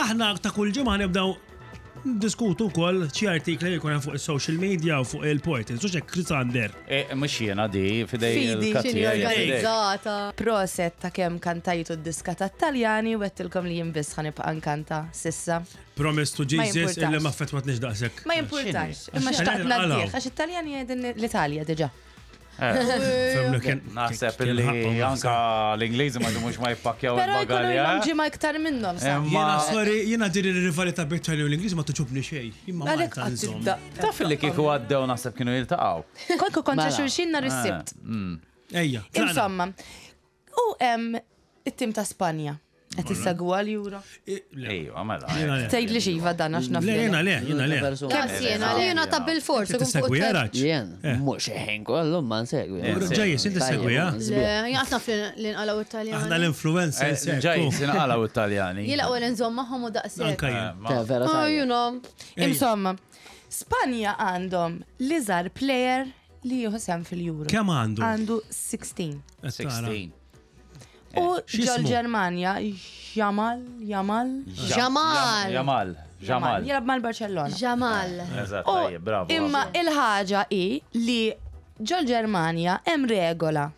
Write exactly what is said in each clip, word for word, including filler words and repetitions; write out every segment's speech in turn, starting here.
Aħna ta' kull ġimgħa nibdew diskutu wkoll xi artikli li jkun hemm fuq is-social media u fuq il-portals. U xek Krisander. E, mhux jiena di, fidej Fidi, il-Katja. X'inhi hija fidejk. organizzata. Proset ta' kemm kantajtu d-diska ta' Taljani u għedtilkom li jien biss ħa nibqa' nkanta s'issa. Promise to Ma Jesus jimpurtax. illi ma fetwatniex daqshekk. Ma jimpurtax, imma X'inhi? xtaqt X'inhi? ngħaddih, għax it-Taljani jgħidin l-Italja diġà. Fehmna kien- Naħseb kien illi ħaqqhom naħseb. anka l-Ingliżi ma jdumux ma jippakkjaw Però jkunu il-bagalja. ilhom ġimgħa iktar minnhom sa. Imma Jiena sorry, jiena din ir-rivalità bejn Italja u l-Ingliż ma togħġobni xejn. Jien ma Għalhekk Malta qatt nżomm. tibda. Taf li kieku għaddew naħseb kienu jiltaqgħu. Konku kontra Mela. xulxin nhar is-Sibt. Ejja, tlaqna. Insomma, u hemm it-tim ta' Spanja. Qed issegwu l-Euro. Eh, le. Ejwa, mela. Jiena le. Tgħid li xiva dan għax naf. Le, li jiena le, jiena le. Persuna. Daqs jiena, jiena ta' bil-fors. Inti Tissegwi jaraċ? Jien, mhux ħin kollu ma nsegwi. Ġajis, inti segwi, ha? Le, jien naf li nqalaw Italjani. Aħna l-influencers. Ġaj, sinqalaw it-Taljani. Jien l-ewwel nżomm magħhom u daqshekk. Anka jien. Ta' vera Oh, tajjeb. you know. Insomma, Spanja għandhom l-iżgħar player li jieħu sehem fil-Euro. Kemm għandu? Għandu sittax. U ġol X'ismu? Ġermanja, Jamal, Jamal, Jamal. Jamal. Jamal. Jilgħab mal-Barcellona. Jamal. Eżatt, U tajjeb, bravo. Imma il-ħaġa hi li ġol Ġermanja hemm regola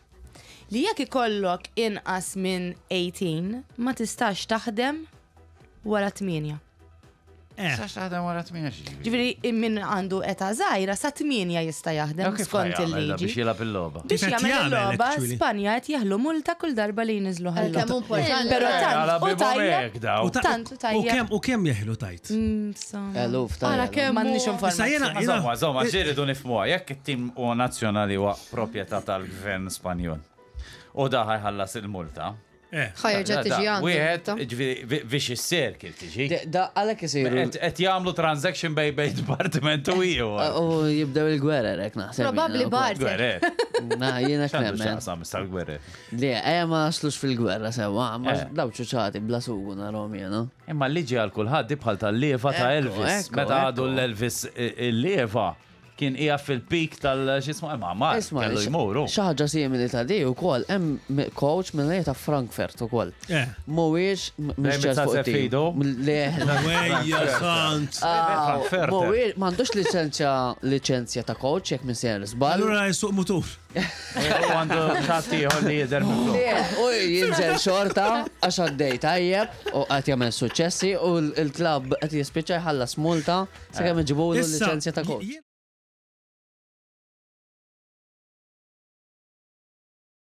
li jekk ikollok inqas minn tmintax ma tistax taħdem wara tmienja. Eh, Sax taħdem wara tmienja xi. Ġifieri min għandu età żgħira sa tmienja jista' jaħdem skont il-liġi. Biex jilgħab il-logħba. Biex Kif qed jagħmel jagħmel, il-logħba, actually? Spanja qed jeħlu multa kull darba li jniżlu Kemm ħallu. importanti. Però Għala tant u bibhom tajjeb. hekk daw. U ta- Tant u U tajjeb. kemm u kemm jeħlu tajt? Insomma. Eluf Ara tajjeb. kemm M'għandniex hu- Issa jiena informazzjoni. jiena Insomma, insomma, ġiridu nifhmuha, jekk it-tim u nazzjonali huwa proprjetà tal-gvern Spanjol. U da ħa jħallas il-multa. Eh, Ħa jerġa' tiġi għandu. Wieħed, ġifieri, vicious circle tiġi. Da għalhekk isiru. Qed qed jagħmlu transaction bej bej departiment u ieħor. U jibdew il-gwerer hekk naħseb. Probabbli jiena wkoll. barter. Gwerer. Na, jiena X'għandu nemmen. x'jaqsam issa l-gwerer. Le, ejja ma naslux fil-gwerra sewa, ma Eh. daw ċuċati bla sugu narahom jiena. Imma l-liġi għal kulħadd di bħal tal-leva ta' Ekku, Elvis. ekku, Meta għadu ekku. l-Elvis il-leva kien hija fil-peak tal-xismu imma ma Isma, kellu jmuru. xi ħaġa simili ta' di wkoll hemm coach minn ta' Frankfurt ukoll. Eh. Mhuwiex mhux ċert fuq it-tim. Fido? Le. Wejja, sant. Ah, Frankfurt. Mhuwiex m'għandux liċenzja liċenzja ta' coach jekk minn ser żball. Allura jsuq mutur. U għandu xatt ieħor li jidher minn Le, u jinżel xorta għax għaddej tajjeb u qed jagħmel suċċessi u l-klabb qed jispiċċa jħallas multa sakemm iġibulu Issa, liċenzja ta' coach. jien-